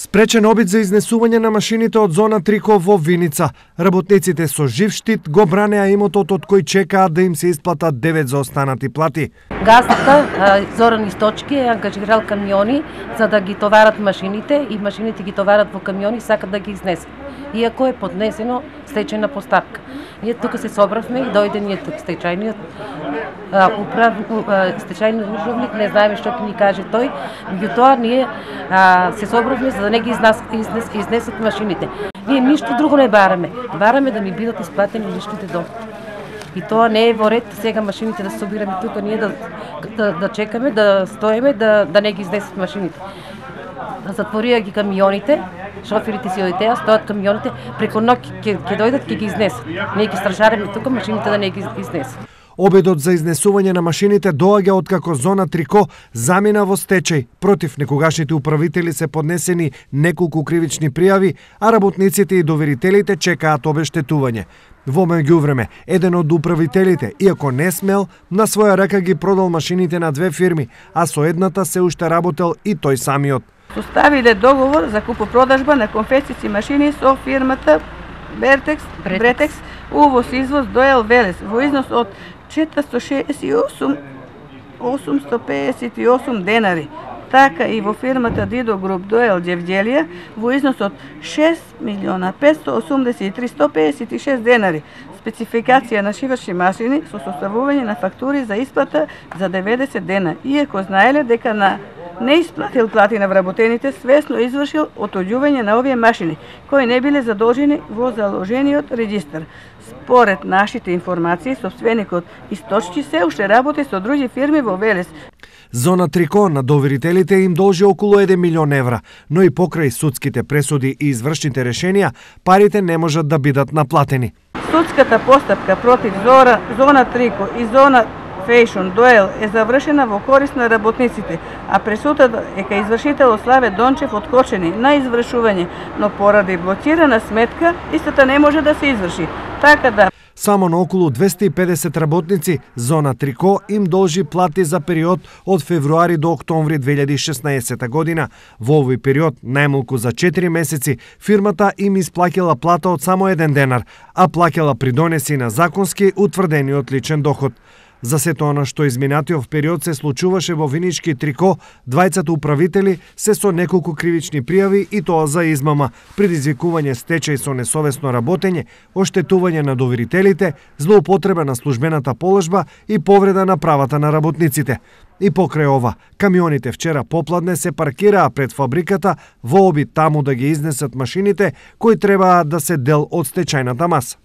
Спречен обид за изнесување на машините од зона Трико во Виница. Работниците со жив штит го бранеа имотот од кој чекаат да им се исплатат 9 за останати плати. Газата Зоран Источки е ангажирал камиони за да ги товарат машините и машините ги товарат во камиони и сакат да ги изнесат. Иако е поднесено стечајна поставка. Ние тука се собравме и дојде ние тук стечајниот стечајниот управник, не знаеме што ќе ни каже тој, меѓутоа ние се собравме за да не ги изнесат машините. Ние ништо друго не бараме. Бараме да ми бидат исплатени личните доходи. И тоа не е во ред сега машините да се собираме тука, ние да чекаме, да стоиме, да не ги изнесат машините. Затворија ги камионите, шоферите си одитеа, стојат камионите, преку ноќ ќе дојдат, ќе ги изнесат. Ние ги стражареме тука машините да не ги изнесат. Обедот за изнесување на машините доаѓа откако зона Трико замина во стечај. Против некогашните управители се поднесени неколку кривични пријави, а работниците и доверителите чекаат обештетување. Во меѓувреме, еден од управителите, иако не смел, на своја рака ги продал машините на две фирми, а со едната се уште работел и тој самиот. Составиле договор за купопродажба на конфекцијски машини со фирмата Бретекс, увоз-извоз Доел Велес во износ од 468.858 денари. Така и во фирмата Дидо Груп Доел Ѓевѓелија во износ од 6.583.156 денари. Спецификација на шивачни машини со составување на фактури за исплата за 90 дена, иако знаеле дека на не исплатил плати на вработените, свесно извршил отоѓување на овие машини, кои не биле задолжени во заложениот регистар. Според нашите информации, собственикот Источки се уште работи со други фирми во Велес. Зона Трико на доверителите им должи околу 1 милион евра, но и покрај судските пресуди и извршните решенија, парите не можат да бидат наплатени. Судската постапка против Зона Трико и Зона Фейшн Доел е завршена во корист на работниците, а пресудата е кај извршител Славе Дончев откочени на извршување, но поради блокирана сметка, истата не може да се изврши. Така да само на околу 250 работници Зона Трико им должи плати за период од февруари до октомври 2016 година. Во овој период, најмалку за 4 месеци, фирмата им исплаќала плата од само 1 денар, а плаќала придонеси на законски утврдениот личен доход. За сето она што изминатиот период се случуваше во Винички Трико, двајцата управители се со неколку кривични пријави и тоа за измама, предизвикување стечај со несовесно работење, оштетување на доверителите, злоупотреба на службената положба и повреда на правата на работниците. И покрај ова, камионите вчера попладне се паркираа пред фабриката во обид таму да ги изнесат машините кои требаа да се дел од стечајната маса.